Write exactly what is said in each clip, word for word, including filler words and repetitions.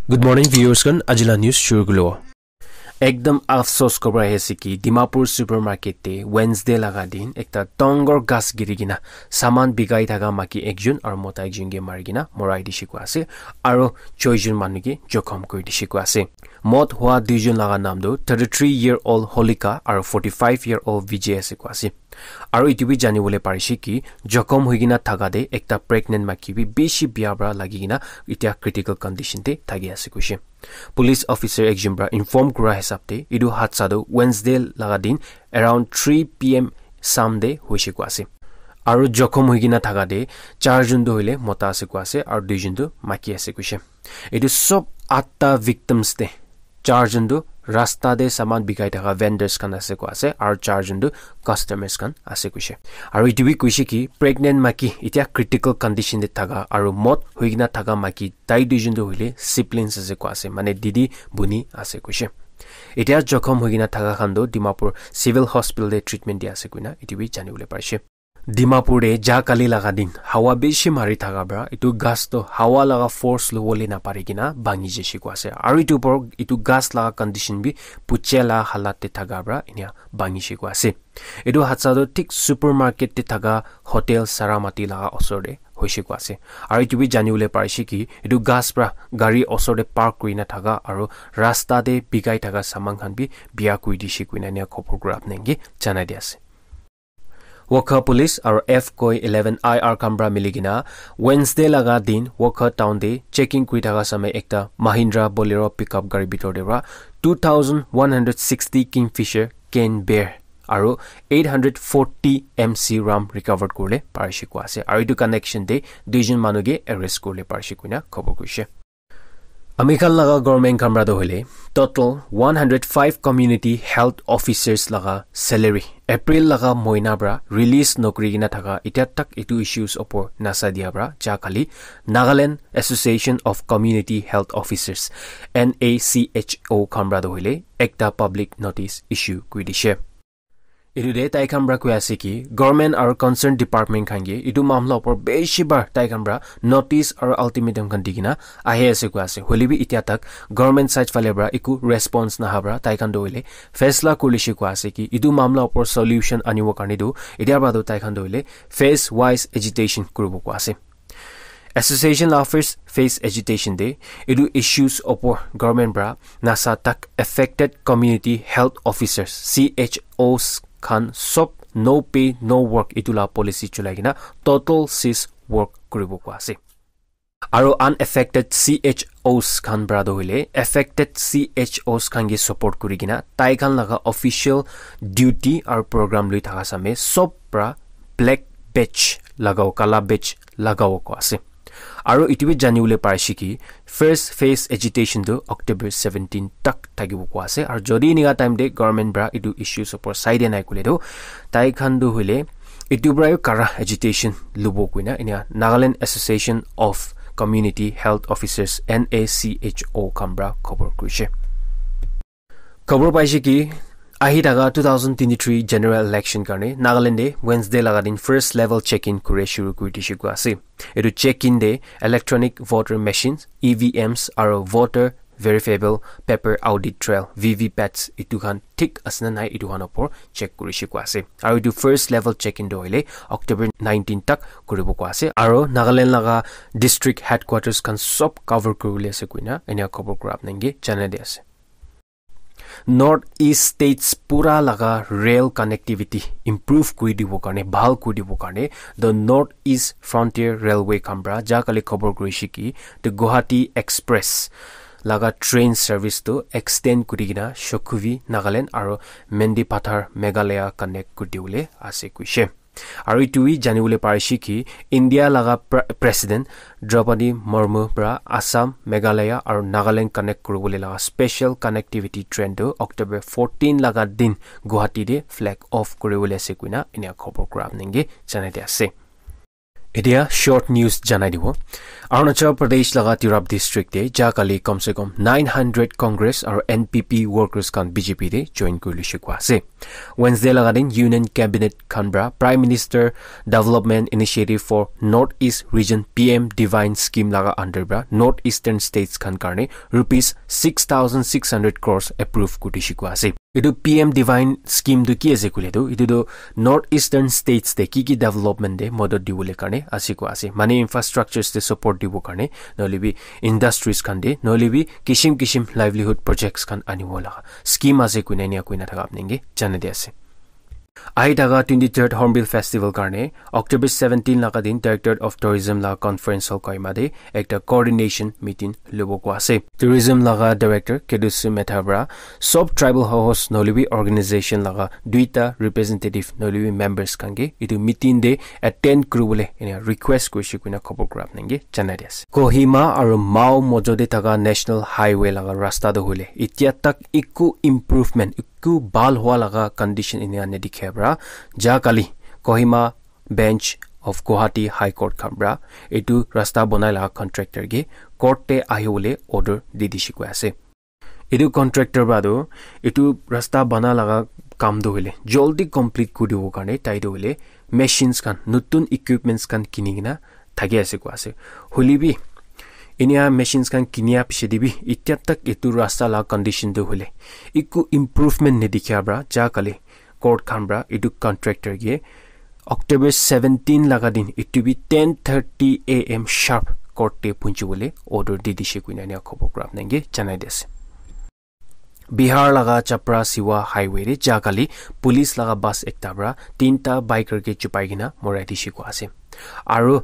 Good morning, viewers khan. Ajila news shuru kulo. Ekdam afsos khobor ahi ase ki Dimapur supermarket te Wednesday laga din ekta dangor gas giri kena saman bikai thaka maki ekjon aru mota ekjon ke mari kena morai dishe koa ase aru choi jon manu ke jokhom kuri dishe koa ase. Mot hua duijon laga naam tu thirty-three year old Holika aru forty-five year old Vijay ase koa ase. Aru etu bi jani bole parishe ki jokhom hoi kena thaka te ekta pregnant maki bi bishi bia para lagi kena etia critical condition te thaki ase koishe. Police officer ekjon para inform kura hisab te etu hadsa tu Wednesday laga din around three p m sam te hoishe koa ase. Aru jokhom hoi kena thaka te char jon tu hoile mota ase koa ase aru duijon tu maki ase koishe. Etu sob atta victims te char jon tu rasta te saman bikai thaka vendors khan ase koa ase aru char jon tu customers khan ase koishe. Aru etu bi koishe ki pregnant maki etia critical condition te thaka aru mot hoi kena thaka maki tai duijon tu hoile siblings ase koa ase, mane didi buni ase koishe. Etia jokhom hoi kena thaka khan tu Dimapur Civil Hospital te treatment dia ase koina etu bi jani bole parishe. Dimapur te ja kali laga din hawa bishi mari thaka para etu gas tu hawa laga force lobole napari kena bhangi jaishe koa ase. Aru etu upor etu gas laga condition bi puche la halat te thaka para enia bhangishe koa ase. Etu hadsa tu thik supermarket te thaka hotel Saramati laga osor te hoishe koa ase. Aru etu bi jani bole parishe ki etu gas para gari osor te park kuri na thaka aru rasta te bikai thaka saman khan bi bia kuri dishe koina enia khobor kura apni ke janai di ase. Wokha Police aru F Koi eleven I R khan para mili kena Wednesday laga din Wokha town te checking kuri thaka samay ekta Mahindra Bolero pickup gari bitor te para two thousand one hundred sixty Kingfisher Cane Bear aru eight hundred forty M C rum recovered kurle parishe koa ase. Aru etu connection te duijon manu ke arrest kurle parishe koina khobor kurishe. Ami khan laga government khan para toh hoile total one hundred five community health officers laga salary April laga moina para release nokuri kena thaka etia tak etu issues opor nasa dia para ja kali Nagaland Association of Community Health Officers, N A C H O khan para toh hoile ekta public notice issue kuri dishe. Etu te tai khan para koi ase ki government aru concerned department khan ke etu mamla upor bishi bar tai khan para notice aru ultimatum khan di kena ahi ase koi ase. Hoile bi etia tak government side phale para eku response naha para tai khan toh hoile faisla kuri lishe koi ase ki etu mamla upor solution anibo karne toh etia para toh tai khan toh hoile phase wise agitation kuribo koi ase. Association la first phase agitation te etu issues opor government para nasa tak affected community health officers, C H Os khan sob no pay no work etu la policy chulai kena total cease work kuribo koi ase. Aru unaffected C H Os khan para toh hoile affected C H Os khan ke support kuri kena tai khan laga official duty aru program lui thaka samay sob para black badge lagao, kala badge lagao koi ase. Aru etu bi jani bole parishe ki first phase agitation tu October seventeen tak thakibo koi ase. Aru jodi enika time te government para etu issues opor sai dia nai koile toh tai khan toh hoile etu para bi kara agitation lobo koina enia Nagaland Association of Community Health Officers, N A C H O khan para khobor kurishe. Khobor paishe ki ahi thaka two thousand twenty-three general election karne Nagaland te Wednesday laga din first level check-in kure shuru kuri dishe koi ase. Etu check-in te electronic voter machines, E V Ms aru voter verifiable paper audit trail, V V pats etu khan thik ase na nai etu khan opor check kurishe koi ase. Aru etu first level check-in toh hoile October nineteen tak kuribo koi ase. Aru Nagaland laga district headquarters khan sob cover kuribole ase koina enia khobor kura apni ke janai di ase. North East States pura laga rail connectivity improve kuri dibo karne, bhal kuri dibo karne, the North East Frontier Railway khan para ja kali khobor kurishe ki, the Guwahati Express laga train service tu extend kuri kena Shokhuvi, Nagaland aru Mendipathar, Meghalaya connect kuri dibole ase koishe. Aru etu bi jani bole parishe ki India laga pre-, President Draupadi Murmu para Assam, Meghalaya aru Nagaland connect kuribole laga special connectivity train tu October fourteen laga din Guwahati te flag off kuribole ase koina enia khobor kura apni ke janai di ase. Etia short news janai dibo. Arunachal Pradesh laga Tirap district te ja kali kam se kam nine hundred Congress aru N P P workers khan B J P te join kuri lishe kua ase. Wednesday laga din Union Cabinet khan pra Prime Minister Development Initiative for North East Region, P M Divine Scheme laga under pra North Eastern States khan karne rupees six thousand six hundred crores approve kuri dishe kua ase. Etu P M Divine scheme tu ki ase koile tu, etu tu North Eastern States te ki ki development te modot dibole karne ase kua ase. Mane infrastructures te support dibo karne, nohole bi industries khan te, nohole bi kishim kishim livelihood projects khan anibo laga scheme ase koina enia koina thaka apni ke janai di ase. Ahi thaka twenty-third Hornbill Festival karne October seventeen laga din Directorate of Tourism laga conference hall Kohima te ekta coordination meeting lobo kua ase. Tourism laga director Kedusi Metha pra sob tribal host nohole bi organization laga duita representative nohole bi members khan ke etu meeting te attend kuribole enia request kurishe koina khobor kura apni ke janai di ase. Kohima aru Mao mojo te thaka National Highway laga rasta tu hoile etia tak eku improvement, eku bhal hua laga condition enia nadikhe pra ja kali Kohima Bench of Guwahati High Court khan pra etu rasta banai laga contractor ke court te ahibole order di dishe koi ase. Etu contractor pra tu etu rasta bana laga kam tu hoile joldi complete kuri dibo karne tai tu hoile machines khan, notun equipments khan kini kena thaki ase koi ase. Hoile bi enia machines khan kinia piche te bi etia tak etu rasta laga condition tu hoile eku improvement nadikha pra ja kali court khan pra etu contractor ke October seventeen laga din etu bi ten thirty A M sharp court te punchi bole order di dishe koina enia khobor kura apni ke janai di ase. Bihar laga Chapra Siwa highway te ja kali police laga bus ekta pra tinta biker ke chupai kena morai dishe koi ase. Aru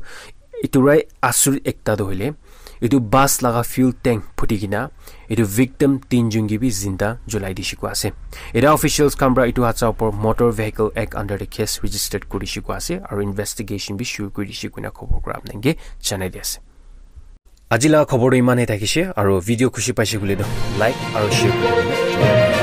etu rai asur ekta tu hoile etu bus laga fuel tank phuti kena etu victim tinjun ke bi zinda julai dishe koi ase. Eta officials khan pra etu hatsa upor Motor Vehicle Act under the case registered kuri dishe koi ase aru investigation bi shuru kuri dishe koina khobor kura apni ke janai di ase. Aji laga khobor tu iman he thakishe aru video khushi paishe koile tu like aru share kuri dibo.